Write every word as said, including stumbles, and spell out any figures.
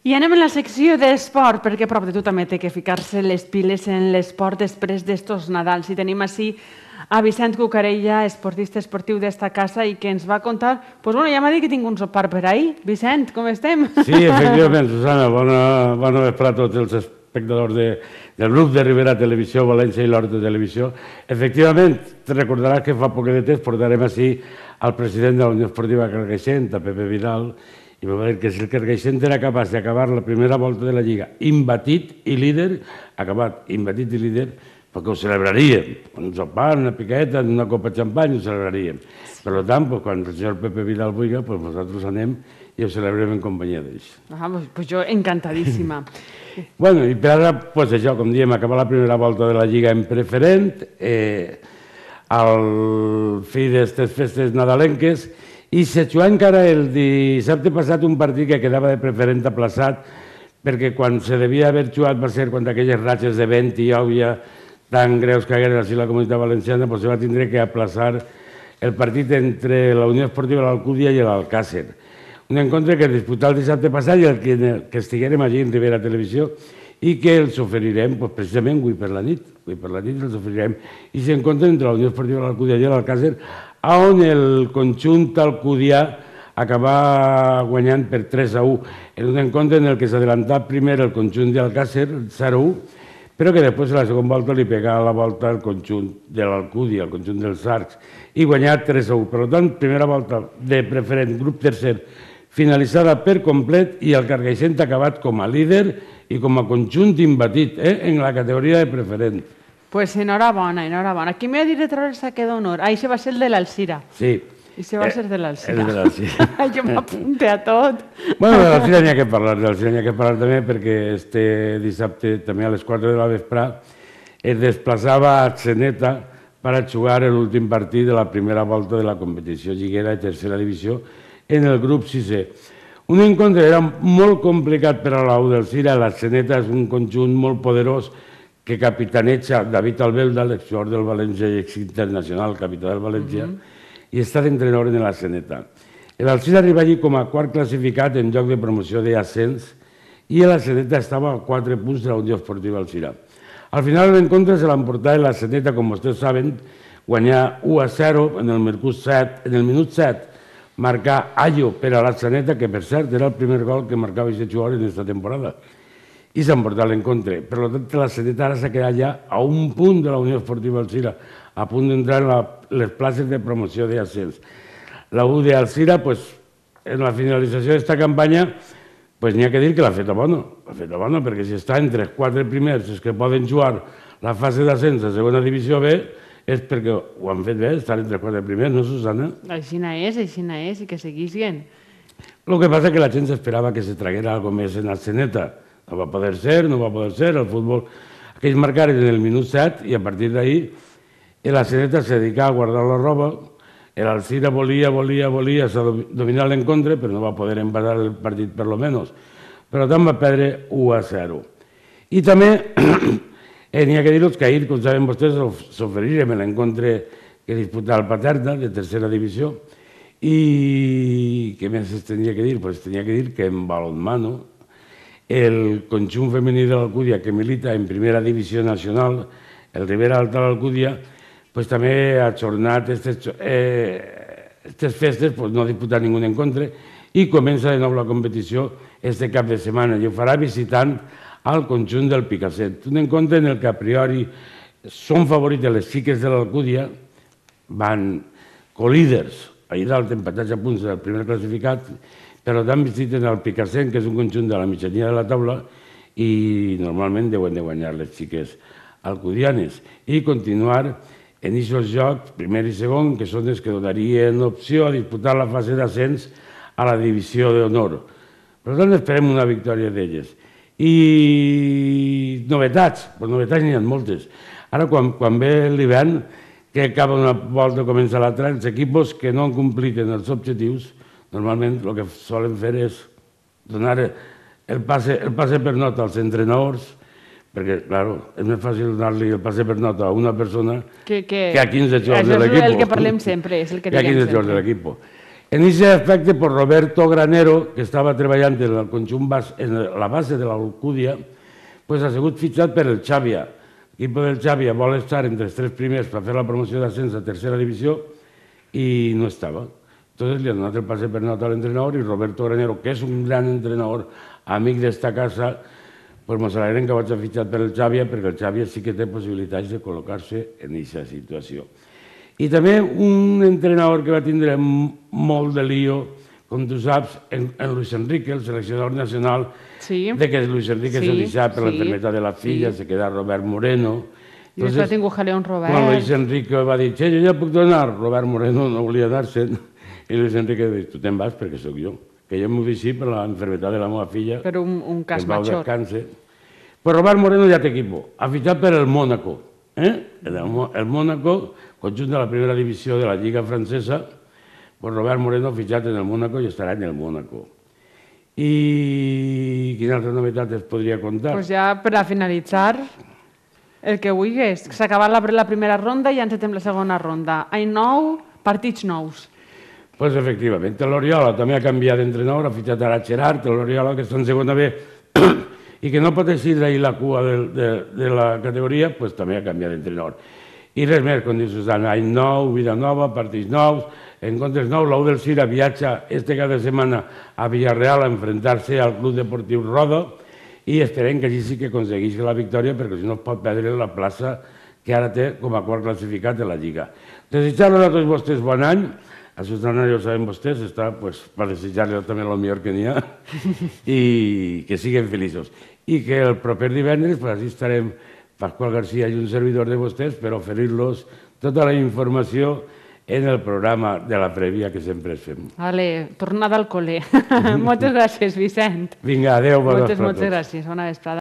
I anem a la secció d'esport, perquè prop de tu també té que ficar-se les piles en l'esport després d'estos Nadals. I tenim així a Vicent Cucarella, esportista esportiu d'esta casa, i que ens va contar... Doncs bueno, ja m'ha dit que tinc un sopar per ahir. Vicent, com estem? Sí, efectivament, Susana, bona, bona vesprada a tots els espectadors de, del grup de Ribera Televisió, València i l'Horta Televisió. Efectivament, te recordaràs que fa poc de temps portarem així al president de la Unió Esportiva Carcaixent, a Pepe Vidal, i va dir que si el Carcaixent era capaç d'acabar la primera volta de la Lliga imbatit i líder, acabat imbatit i líder, perquè ho celebraríem. Un sopar, una piqueta, una copa de xampany, ho celebraríem. Per tant, quan el senyor Pepe Vidal vulgui, nosaltres anem i ho celebrem en companyia d'ells. Ah, doncs jo encantadíssima. Bueno, i per ara, doncs això, com diem, acabar la primera volta de la Lliga en preferent, al fi d'aquestes festes nadalenques, i se jugà encara el dissabte passat un partit que quedava de preferent aplaçat, perquè quan se devia haver jugat va ser quan aquelles ratxes de vent i òbvia tan greus que hagueren a la Comunitat Valenciana, doncs se va tindre que aplaçar el partit entre la Unió Esportiva de l'Alcúdia i l'Alcàsser. Un encontre que es disputà el dissabte passat i el que, que estiguérem allí en Ribera Televisió i que els oferirem pues, precisament avui per la nit. Avui per la nit els oferirem. I s'encontra entre la Unió Esportiva de l'Alcúdia i l'Alcàsser, on el conjunt alcudià acabà guanyant per tres a u, en un encontre en el que s'adelantà primer el conjunt d'Alcàsser, zero a u, però que després a la segona volta li pegà la volta al conjunt de l'Alcúdia, al conjunt dels Arcs, i guanyà tres a u. Per tant, primera volta de preferent, grup tercer, finalitzada per complet, i el Carcaixent ha acabat com a líder i com a conjunt imbatit en la categoria de preferent. Pues enhorabona, enhorabona. Qui m'ha dit de treure el saque d'honor? Ah, això va ser el de l'Alcira. Sí. I això va ser de l'Alcira. El de l'Alcira. Jo m'apunte a tot. Bueno, de l'Alcira n'hi ha que parlar, de l'Alcira n'hi ha que parlar també perquè este dissabte, també a les quatre de la vesprà, es desplaçava a Atzeneta per a jugar l'últim partit de la primera volta de la competició lliguera de tercera divisió en el grup sisè. Un encontre era molt complicat per a l'U d'Alcira. L'Atzeneta és un conjunt molt poderós que capitaneja David Albelda, l'exjugador del València i exinternacional, capità del València, i està d'entrenador en l'Atzeneta. L'Alcira arriba allí com a quart classificat en lloc de promoció d'ascens i l'Atzeneta estava a quatre punts de la Unió Esportiva Alcira. Al final de l'encontre se l'emportava l'Atzeneta, com vostès saben, guanyar u a zero en el minut set, marcar Ayo per a l'Atzeneta, que per cert era el primer gol que marcava aquest jugador en aquesta temporada, i s'ha emportat l'encontre. Per tant, l'Atzeneta ara s'ha quedat ja a un punt de la Unió Esportiva Alcira, a punt d'entrar en les places de promoció d'ascens. La U d'Alcira, en la finalització d'aquesta campanya, n'hi ha que dir que l'ha fet a bona. L'ha fet a bona perquè si està entre els quatre primers els que poden jugar la fase d'ascens a segona divisió B, és perquè ho han fet bé, estan entre els quatre primers, no, Susana? Aixina és, aixina és, i que seguissin. El que passa és que la gent s'esperava que se traguera alguna més en Atzeneta. No va poder ser, no va poder ser, el futbol... Aquells marcaren en el minut set i a partir d'ahir l'Atzeneta se dedicava a guardar la roba, l'Alcira volia, volia, volia dominar l'encontre, però no va poder empatar el partit per lo menos. Per tant va perdre u a zero. I també n'hi ha que dir-los que ahir, com saben vostès, s'oferirem l'encontre que disputava el Paterna, de tercera divisió, i què més es tenia que dir? Doncs tenia que dir que en balonmano el conjunt femení de l'Alcúdia, que milita en primera divisió nacional, el Ribera Alta de l'Alcúdia, també ha ajornat aquestes festes, no ha disputat ningú encontre, i comença de nou la competició este cap de setmana, i ho farà visitant al conjunt del Picassent. Un encontre en el que a priori són favorites les xiques de l'Alcúdia, van colíders, ahir dalt empatats a punts del primer classificat, però també visiten el Picassent, que és un conjunt de la mitjania de la taula, i normalment deuen de guanyar les xiques alcudianes i continuar en aquests jocs, primer i segon, que són els que donarien opció a disputar la fase d'ascens a la divisió d'honor. Per tant, esperem una victòria d'elles. I novetats, doncs novetats n'hi ha moltes. Ara, quan ve l'hivern, que acaba una volta i comença l'altra, els equips que no han complit els objectius, normalment el que solen fer és donar el passe per nota als entrenadors, perquè, clar, és més fàcil donar-li el passe per nota a una persona que a quinze jugadors de l'equip. És el que parlem sempre, és el que diem sempre. Que a quinze jugadors de l'equip. En aquest aspecte, pues, Roberto Granero, que estava treballant en el conjunt bas, en la base de l'Alcúdia, pues, ha sigut fitxat per el Xàbia. L'equip del Xàbia vol estar entre els tres primers per fer la promoció d'ascens a tercera divisió i no estava. Entonces li han donat el passe per nota a l'entrenador i Roberto Granero, que és un gran entrenador, amic d'esta casa, pues mos alegrem que vagi fitxat per el Xàbia, perquè el Xàbia sí que té possibilitats de col·locar-se en aquesta situació. I també un entrenador que va tindre molt de lío, com tu saps, en Luis Enrique, el seleccionador nacional, de que Luis Enrique se deixava per l'enfermedad de la filla, se queda Robert Moreno. I després ha tingut jaleo amb Robert. Quan Luis Enrique va dir, che, jo ja puc donar, Robert Moreno no volia dar-se'n, i Luis Enrique va dir, tu te'n vas perquè sóc jo, que jo m'ho deixi per l'enfermedad de la meva filla. Per un cas major. Pues Robert Moreno ja té equipo, ha fitxat per el Mónaco. El Mónaco, conjunt de la primera divisió de la Lliga Francesa, pues Robert Moreno ha fitxat en el Mónaco i estarà en el Mónaco. I quina altra novetat es podria contar? Pues ja per a finalitzar, el que vulguis. S'ha acabat la primera ronda i ja encetem la segona ronda. Any nou, partits nous. Pues efectivament, l'Oriola també ha canviat d'entrenador, ha fitxat ara Gerard, l'Oriola que està en segona B i que no pot eixir d'ahir la cua de la categoria, pues també ha canviat d'entrenador. I res més, com diu Susana, any nou, vida nova, partits nous, encontres nous, l'U del Cira viatja este cada setmana a Villarreal a enfrontar-se al Club Deportiu Roda i esperem que allí sí que aconsegueixi la victòria perquè si no es pot perdre la plaça que ara té com a quart classificat de la Lliga. Desitjar-los a tots vostès bon any, a Susana ja ho saben vostès, està per desitjar-los també el millor que n'hi ha i que siguin feliços. I que el proper divendres, per així estarem Pasqual García i un servidor de vostès per oferir-los tota la informació en el programa de la prèvia que sempre es fem. Vale, tornada al col·le. Moltes gràcies, Vicent. Vinga, adéu. Moltes, moltes gràcies. Bona vesprada.